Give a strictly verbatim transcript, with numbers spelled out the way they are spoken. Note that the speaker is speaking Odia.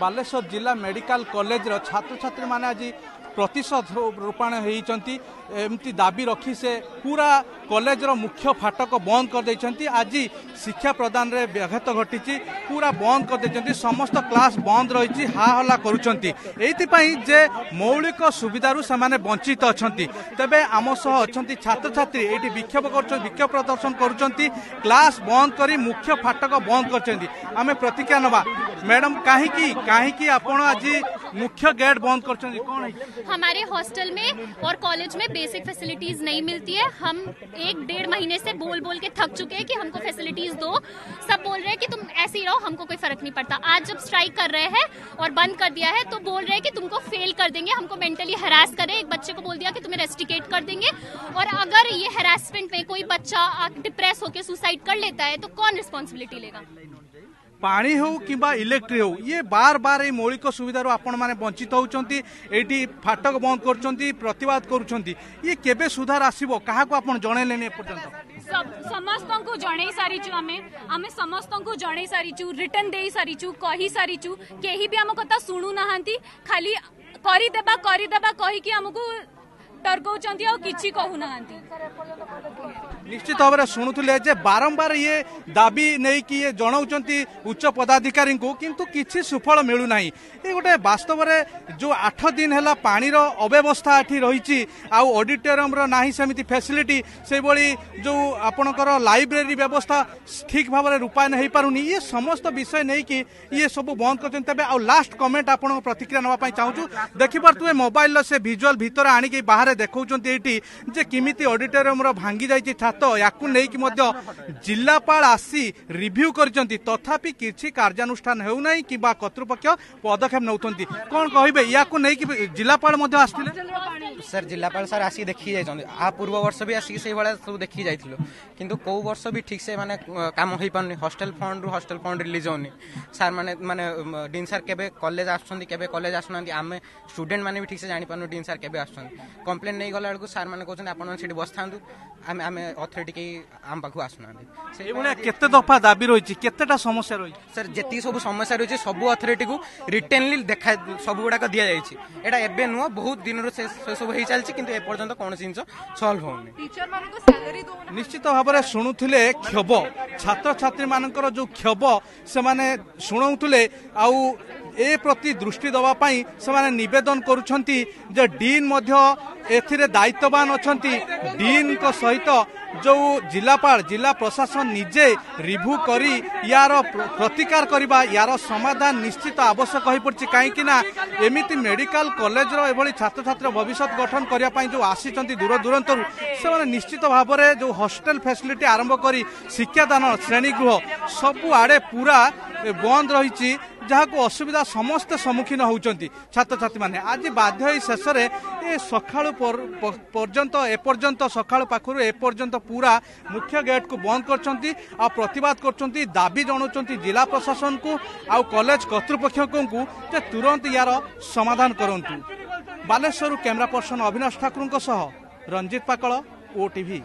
ବାଲେଶ୍ୱର ଜିଲ୍ଲା ମେଡ଼ିକାଲ କଲେଜର ଛାତ୍ରଛାତ୍ରୀମାନେ ଆଜି ପ୍ରତିଶୋଧ ରୂପାୟଣ ହେଇଛନ୍ତି। ଏମିତି ଦାବି ରଖି ସେ ପୁରା କଲେଜର ମୁଖ୍ୟ ଫାଟକ ବନ୍ଦ କରିଦେଇଛନ୍ତି। ଆଜି ଶିକ୍ଷା ପ୍ରଦାନରେ ବ୍ୟାଘାତ ଘଟିଛି, ପୁରା ବନ୍ଦ କରିଦେଇଛନ୍ତି, ସମସ୍ତ କ୍ଲାସ୍ ବନ୍ଦ ରହିଛି, ହା ହଲ୍ଲା କରୁଛନ୍ତି ଏଇଥିପାଇଁ ଯେ ମୌଳିକ ସୁବିଧାରୁ ସେମାନେ ବଞ୍ଚିତ ଅଛନ୍ତି। ତେବେ ଆମ ସହ ଅଛନ୍ତି ଛାତ୍ରଛାତ୍ରୀ, ଏଇଠି ବିକ୍ଷୋଭ କରୁଛନ୍ତି, ବିକ୍ଷୋଭ ପ୍ରଦର୍ଶନ କରୁଛନ୍ତି, କ୍ଲାସ୍ ବନ୍ଦ କରି ମୁଖ୍ୟ ଫାଟକ ବନ୍ଦ କରିଛନ୍ତି। ଆମେ ପ୍ରତିକ୍ରିୟା ନେବା। ମ୍ୟାଡ଼ାମ, କାହିଁକି କାହିଁକି ଆପଣ ଆଜି ମୁଖ୍ୟ ଗେଟ୍ ବନ୍ଦ କରିଛନ୍ତି, କ'ଣ ହେଇଛି? हमारे हॉस्टल में और कॉलेज में बेसिक फैसिलिटीज नहीं मिलती है। हम एक डेढ़ महीने से बोल बोल के थक चुके हैं कि हमको फैसिलिटीज दो। सब बोल रहे हैं कि तुम ऐसे ही रहो, हमको कोई फर्क नहीं पड़ता। आज जब स्ट्राइक कर रहे हैं और बंद कर दिया है तो बोल रहे हैं कि तुमको फेल कर देंगे, हमको मेंटली हरास कर रहे हैं। एक बच्चे को बोल दिया कि तुम्हें रेस्टिकेट कर देंगे। और अगर ये हरासमेंट में कोई बच्चा डिप्रेस होकर सुसाइड कर लेता है तो कौन रिस्पॉन्सिबिलिटी लेगा? ପାଣି ହେଉ କିମ୍ବା ଇଲେକ୍ଟ୍ରି ହେଉ, ଇଏ ବାର ବାର ଏଇ ମୌଳିକ ସୁବିଧାରୁ ଆପଣମାନେ ବଞ୍ଚିତ ହେଉଛନ୍ତି। ଏଇଠି ଫାଟକ ବନ୍ଦ କରୁଛନ୍ତି, ପ୍ରତିବାଦ କରୁଛନ୍ତି, ଇଏ କେବେ ସୁଧାର ଆସିବ? କାହାକୁ ଆପଣ ଜଣେଇଲେନି ଏପର୍ଯ୍ୟନ୍ତ? ସମସ୍ତଙ୍କୁ ଜଣେଇ ସାରିଛୁ ଆମେ, ଆମେ ସମସ୍ତଙ୍କୁ ଜଣେଇ ସାରିଛୁ, ରିଟର୍ନ ଦେଇ ସାରିଛୁ, କହି ସାରିଛୁ, କେହି ବି ଆମ କଥା ଶୁଣୁନାହାନ୍ତି। ଖାଲି କରିଦେବା କରିଦେବା କହିକି ଆମକୁ ଡରଉଛନ୍ତି, ଆଉ କିଛି କହୁନାହାନ୍ତି। ନିଶ୍ଚିତ ଭାବରେ ଶୁଣୁଥିଲେ ଯେ ବାରମ୍ବାର ଇଏ ଦାବି ନେଇକି ଇଏ ଜଣାଉଛନ୍ତି ଉଚ୍ଚ ପଦାଧିକାରୀଙ୍କୁ, କିନ୍ତୁ କିଛି ସୁଫଳ ମିଳୁନାହିଁ। ଏ ଗୋଟେ ବାସ୍ତବରେ ଯେଉଁ ଆଠ ଦିନ ହେଲା ପାଣିର ଅବ୍ୟବସ୍ଥା ଏଠି ରହିଛି, ଆଉ ଅଡିଟୋରିୟମର ନାହିଁ ସେମିତି ଫ୍ୟାସିଲିଟି, ସେଇଭଳି ଯେଉଁ ଆପଣଙ୍କର ଲାଇବ୍ରେରୀ ବ୍ୟବସ୍ଥା ଠିକ୍ ଭାବରେ ରୂପାୟନ ହେଇପାରୁନି, ଇଏ ସମସ୍ତ ବିଷୟ ନେଇକି ଇଏ ସବୁ ବନ୍ଦ କରିଛନ୍ତି। ତେବେ ଆଉ ଲାଷ୍ଟ କମେଣ୍ଟ ଆପଣଙ୍କ ପ୍ରତିକ୍ରିୟା ନେବା ପାଇଁ ଚାହୁଁଛୁ। ଦେଖିପାରୁଥିବେ ମୋବାଇଲର ସେ ଭିଜୁଆଲ ଭିତରେ ଆଣିକି ବାହାରେ ଦେଖାଉଛନ୍ତି ଏଇଠି ଯେ କେମିତି ଅଡିଟୋରିୟମର ଭାଙ୍ଗି ଯାଇଛି ଛାତ। ୟାକୁ ନେଇକି ମଧ୍ୟ ଜିଲ୍ଲାପାଳ ଆସି ରିଭ୍ୟୁ କରିଛନ୍ତି, ତଥାପି କିଛି କାର୍ଯ୍ୟାନୁଷ୍ଠାନ ହେଉନାହିଁ କିମ୍ବା କର୍ତ୍ତୃପକ୍ଷ ପଦକ୍ଷେପ ନେଉଛନ୍ତି। କ'ଣ କହିବେ ୟାକୁ ନେଇକି? ଜିଲ୍ଲାପାଳ ମଧ୍ୟ ଆସିଥିଲେ। ସାର୍, ଜିଲ୍ଲାପାଳ ସାର୍ ଆସିକି ଦେଖିକି ଯାଇଛନ୍ତି। ଆ ପୂର୍ବ ବର୍ଷ ବି ଆସିକି ସେଇଭଳିଆ ସବୁ ଦେଖିକି ଯାଇଥିଲୁ, କିନ୍ତୁ କେଉଁ ବର୍ଷ ବି ଠିକ୍ ସେ ମାନେ କାମ ହେଇପାରୁନି। ହଷ୍ଟେଲ ଫଣ୍ଡରୁ ହଷ୍ଟେଲ ଫଣ୍ଡ ରିଲିଜ୍ ହେଉନି। ସାର୍ ମାନେ ମାନେ ଡିନ୍ ସାର୍ କେବେ କଲେଜ ଆସୁଛନ୍ତି, କେବେ କଲେଜ ଆସୁନାହାନ୍ତି, ଆମେ ଷ୍ଟୁଡେଣ୍ଟ ମାନେ ବି ଠିକ୍ ସେ ଜାଣିପାରୁନୁ ଡିନ୍ ସାର୍ କେବେ ଆସୁଛନ୍ତି। କମ୍ପ୍ଲେନ୍ ନେଇ ଗଲା ବେଳକୁ ସାର୍ ମାନେ କହୁଛନ୍ତି ଆପଣମାନେ ସେଠି ବସିଥାନ୍ତୁ, ଆମେ ଆମେ ଅଥରିଟି କେହି ଆମ ପାଖକୁ ଆସୁନାହାନ୍ତି। ସେଇଭଳିଆ କେତେ ଦଫା ଦାବି ରହିଛି, କେତେଟା ସମସ୍ୟା ରହିଛି? ସାର୍, ଯେତିକି ସବୁ ସମସ୍ୟା ରହିଛି ସବୁ ଅଥରିଟିକୁ ରିଟେନଲି ଦେଖା ସବୁ ଗୁଡ଼ାକ ଦିଆଯାଇଛି। ଏଇଟା ଏବେ ନୁହଁ, ବହୁତ ଦିନରୁ ସେ ସବୁ ହେଇ ଚାଲିଛି, କିନ୍ତୁ ଏପର୍ଯ୍ୟନ୍ତ କୌଣସି ଜିନିଷ ସଲ୍ଭ ହଉନି। ନିଶ୍ଚିତ ଭାବରେ ଶୁଣୁଥିଲେ କ୍ଷୋଭ, ଛାତ୍ରଛାତ୍ରୀମାନଙ୍କର ଯେଉଁ କ୍ଷୋଭ ସେମାନେ ଶୁଣାଉଥିଲେ, ଆଉ ଏ ପ୍ରତି ଦୃଷ୍ଟି ଦେବା ପାଇଁ ସେମାନେ ନିବେଦନ କରୁଛନ୍ତି ଯେ ଡିନ୍ ମଧ୍ୟ ଏଥିରେ ଦାୟିତ୍ୱବାନ ଅଛନ୍ତି। ଡିନ୍ଙ୍କ ସହିତ ଯେଉଁ ଜିଲ୍ଲାପାଳ, ଜିଲ୍ଲା ପ୍ରଶାସନ ନିଜେ ରିଭ୍ୟୁ କରି ୟାର ପ୍ରତିକାର କରିବା, ୟାର ସମାଧାନ ନିଶ୍ଚିତ ଆବଶ୍ୟକ ହୋଇପଡ଼ିଛି। କାହିଁକି ନା ଏମିତି ମେଡ଼ିକାଲ କଲେଜର ଏଭଳି ଛାତ୍ରଛାତ୍ରୀ ଭବିଷ୍ୟତ ଗଠନ କରିବା ପାଇଁ ଯେଉଁ ଆସିଛନ୍ତି ଦୂର ଦୂରାନ୍ତରୁ, ସେମାନେ ନିଶ୍ଚିତ ଭାବରେ ଯେଉଁ ହଷ୍ଟେଲ ଫ୍ୟାସିଲିଟି ଆରମ୍ଭ କରି ଶିକ୍ଷାଦାନ, ଶ୍ରେଣୀଗୃହ ସବୁଆଡ଼େ ପୁରା ବନ୍ଦ ରହିଛି, ଯାହାକୁ ଅସୁବିଧା ସମସ୍ତେ ସମ୍ମୁଖୀନ ହେଉଛନ୍ତି ଛାତ୍ରଛାତ୍ରୀମାନେ। ଆଜି ବାଧ୍ୟ ହୋଇ ଶେଷରେ ଏ ସକାଳୁ ପର୍ଯ୍ୟନ୍ତ, ଏପର୍ଯ୍ୟନ୍ତ ସକାଳୁ ପାଖରୁ ଏପର୍ଯ୍ୟନ୍ତ ପୁରା ମୁଖ୍ୟ ଗେଟ୍କୁ ବନ୍ଦ କରିଛନ୍ତି ଆଉ ପ୍ରତିବାଦ କରୁଛନ୍ତି, ଦାବି ଜଣାଉଛନ୍ତି ଜିଲ୍ଲା ପ୍ରଶାସନକୁ ଆଉ କଲେଜ କର୍ତ୍ତୃପକ୍ଷଙ୍କୁ ଯେ ତୁରନ୍ତ ୟାର ସମାଧାନ କରନ୍ତୁ। ବାଲେଶ୍ୱରରୁ କ୍ୟାମେରା ପର୍ସନ ଅବିନାଶ ଠାକୁରଙ୍କ ସହ ରଞ୍ଜିତ ପାକଳ, ଓଟିଭି।